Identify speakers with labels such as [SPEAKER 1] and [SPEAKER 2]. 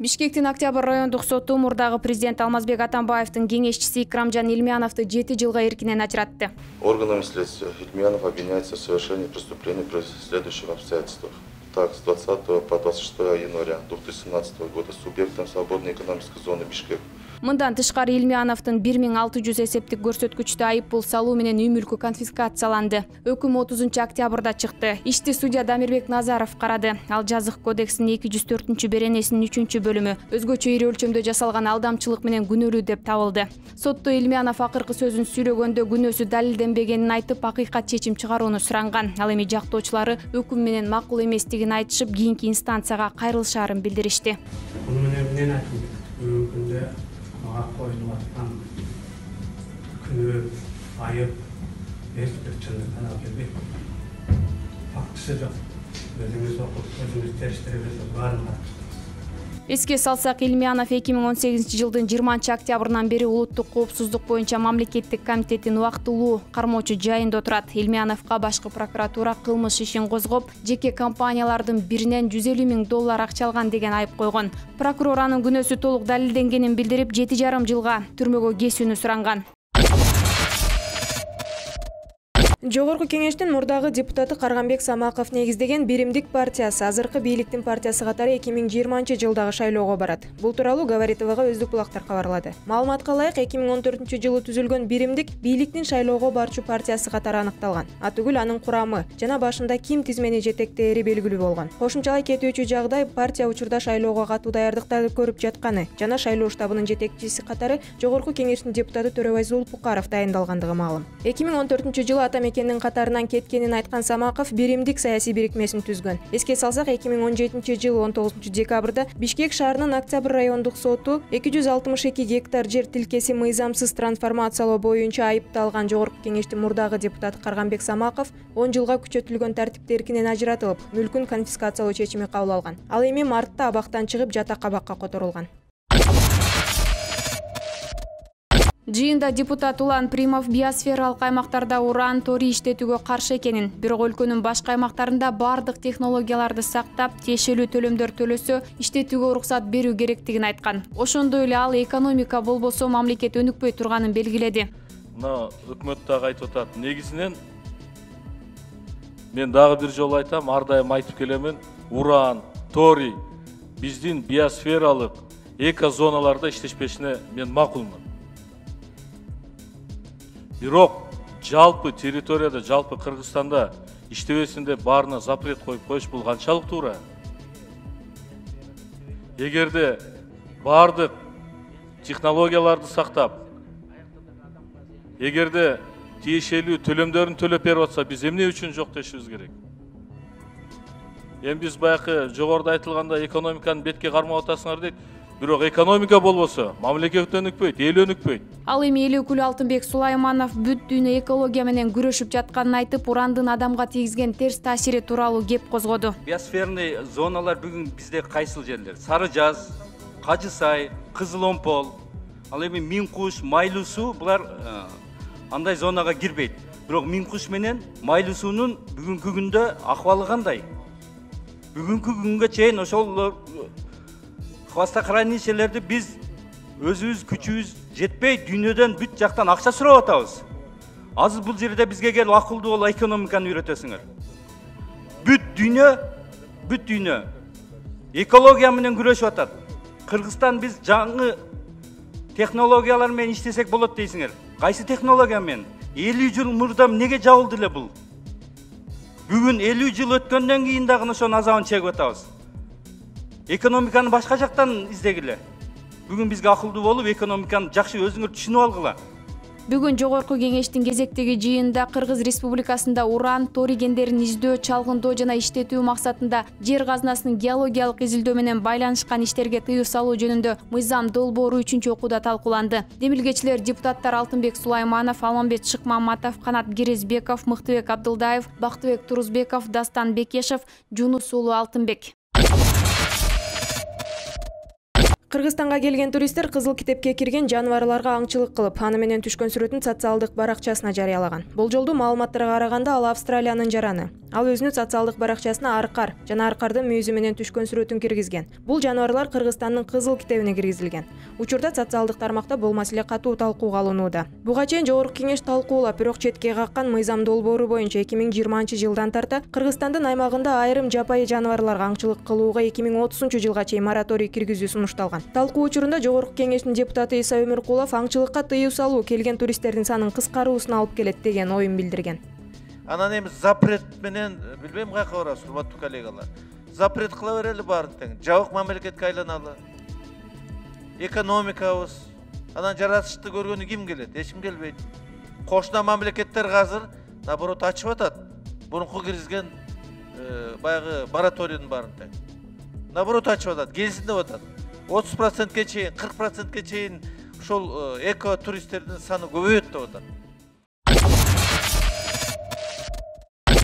[SPEAKER 1] Бишкектин Октябрь райондук соту мурдагы президент Алмазбек Атамбаевдин кеңешчиси Икрамжан Ильмяновду 7 жылга эркинен ажыратты.
[SPEAKER 2] Органами следствия Ильмянов обвиняется в совершении преступлений при следующих обстоятельствах. Так, с 20 по 26 января 2017 года субъектом свободной экономической зоны Бишкек.
[SPEAKER 1] Мындан тышкары Ильмяновдун 1600 эсептик көрсөткүчтө айып пул салуу менен үй мүлкү конфискацияланды. Өкүм 30 октябрда чыкты. Ишти судья Дамирбек Назаров карады. Ал жазык кодексинин 204 беренесинин 3-бөлүмү өзгөчө ири өлчөмдө жасалган алдамчылык менен күнөөлүү деп табылды. Сотто Ильмянов акыркы сөзүн сүйлөгөндө күнөөсү далилденбегенин айтып, акыйкат чечим чыгарууну суранган. Ал эми жактоочулары өкүм менен макул эместигин айтышып, кийинки инстанцияга кайрылышаарын билдиришти.
[SPEAKER 3] Koyulmak günü ayıp bir çınlıktan algılayıp faktısı yok. Özümüz okup, özümüz teriştirip var mı?
[SPEAKER 1] Эске салсак, Ильмянов 2018 жылдын 20 октябрынан бери улуттук коопсуздук боюнча мамлекеттик комитеттин убактылуу кармоочу жайында отурат. Ильмяновго башкы прокуратура кылмыш ишин козгоп, жеке компаниялардын биринен $150,000 акча алган деген айып койгон. Прокурор анын күнөөсү толук далилденгенин билдирип, 7,5 жылга түрмөгө кесүүнү суранган. Жогорку кеңештин мурдагы депутаты Карганбек Самаков негиздеген Биримдик партиясы азыркы бийликтин партиясы катары 2020 жылдагы шайлоого барат. Бул тууралуу Говорит ТВга өздүк булактар кабарлады. Маалыматка ылайык, 2014 жылы түзүлгөн Биримдик бийликтин шайлоого барчу партиясы катары аныкталган. Атүгүл анын курамы жана башында ким тизмени жетектээри белгилүү болгон. Кошумчалай кетүүчү жагдай партия учурда шайлоого катуу даярдыктарды көрүп жатканы жана шайлоо штабынын жетекчиси катары Жогорку кеңештин депутаты Төрөбай Зулпукаров дайындалгандыгы маалым. 2014 жылы Атамекендин катарынан кеткенин айткан Самаков Биримдик саясий бирикмесин түзгөн. Эске салсак, 2017 жылы 19 декабрда Бишкек шаарынын Октябрь райондук соту 262 гектар жер тилкеси мыйзамсыз трансформациялоо боюнча айыпталган Жогорку кеңештин мурдагы депутаты Карганбек Самаков 10 жылга күчөтүлгөн тартипте эркинен ажыратылып, мүлкүн конфискациялоо чечими кабыл алган. Ал эми мартта абактан чыгып жата кабакка которулган. Жыйында депутат Улан Примов биосфералык аймактарда уран, торий иштетүүгө каршы экенин, бирок өлкөнүн башка аймактарында бардык технологияларды сактап, тиешелүү төлөмдөр төлөсө, иштетүүгө уруксат берүү керектигин айткан. Ошондой эле ал экономика болбосо мамлекет өнүкпөй турганын белгиледи.
[SPEAKER 4] Мына өкмөт дагы айтып атат. Негизинен мен дагы бир жолу айтам, ар дайым айтып келемин, уран, торий биздин биосфералык экозоналарда иштешпешине мен макулмун. Бирок жалпы территорияда, жалпы Кыргызстанда иштебесин деп баарына запрет коюп коюш бул канчалык туура? Эгерде бардык технологияларды сактап, эгерде тиешелүү төлөмдөрүн төлөп берип атса, биз эмне үчүн жок дешибиз керек? Эми биз баягы жогоруда айтылганда экономиканы бетке кармап атасыңар дейт. Бирок экономика болбосо, мамлекет өнүкпөйт, эл өнүкпөйт.
[SPEAKER 1] Ал эми эл өкүлү Алтынбек Сулайманов бүт дүйнө экология менен күрөшүп жатканын айтып, урандын адамга тийгизген терс таасири тууралуу кеп козгоду.
[SPEAKER 5] Биосферный зоналар бүгүн бизде кайсыл жерлер? Сары Жаз, Кажы Сай, Кызыл Омпол, ал эми Миң Куш, Майлуу суу булар андай зонага кирбейт. Бирок Миң Куш менен Майлуу суунун бүгүнкү күндө акыбалы кандай? Бүгүнкү күнгө чейин ошол хвостохранилищелерди биз өзүбүз күчүбүз жетпей дүйнөдөн бүт жактан акча сурап атабыз. Азыр бул жерде бизге келип акылдуу бол экономиканы үйрөтөсүңөр. Бүт дүйнө экология менен күрөшүп атат. Кыргызстан биз жаңы технологиялар менен иштесек болот дейсиңер. Кайсы технология менен? 50 жыл мурда эмнеге жабылды эле бул? Бүгүн 50 жыл өткөндөн кийин дагы ошонун азабын чегип атабыз. Экономиканы башка жактан издегиле. Бүгүн бизге акылдуу болуп, экономиканы жакшы өзүңөр түшүнүп алгыла.
[SPEAKER 1] Бүгүн Жогорку кеңештин кезектеги жыйынында Кыргыз Республикасында уран, торий кендерин издөө, чалгындоо жана иштетүү максатында жер казынасынын геологиялык изилдөө менен байланышкан иштерге тыюу салуу жөнүндө мыйзам долбоору 3-окууда талкууланды. Демилгечилер депутаттар Алтынбек Сулайманов, Алмамбет Шыкмаматов, Канат Кирезбеков, Мыктыбек Абдылдаев, Бактыбек Турузбеков, Дастан Бекешев, Жунус уулу Алтынбек. Кыргызстанга келген туристтер Кызыл китепке кирген жаныбарларга аңчылык кылып, аны менен түшкөн сүрөтүн социалдык баракчасына жарыялаган. Болжолдуу маалыматтарга караганда ал Австралиянын жараны. Ал өзүнүн социалдык баракчасына аркар жана аркардын мүйүзү менен түшкөн сүрөтүн киргизген. Бул жаныбарлар Кыргызстандын кызыл китебине киргизилген. Учурда социалдык тармакта бул маселе катуу талкууга алынууда. Буга чейин Жогорку Кеңеш талкуулап, бирок четке каккан мыйзам долбоору боюнча 2020-жылдан тарта Кыргызстандын аймагында айрым жапайы жаныбарларга аңчылык кылууга 2030-жылга чейин мораторий киргизүү сунушталган. Талкуу учурунда Жогорку Кеңештин депутаты Иса Өмүркулов аңчылыкка тыюу салуу келген туристтердин санын кыскаруусуна алып келет деген оюн билдирген.
[SPEAKER 6] Анан эми запрет менен билбейм каяка барабыз, урматтуу коллегалар. Запрет кыла берели баарын тең. Жабык мамлекетке айланалы. Экономикабыз, анан жаратышты көргөнү ким келет? Эч ким келбейт. Кошуна мамлекеттерге азыр наоборот ачып атат. Мурунку киргизген баягы мораторийдин баарын тең. Наоборот ачып атат, келсин деп атат. 30%ке чейин, 40%ке чейин ушул эко туристтердин саны көбөйөт деп атат.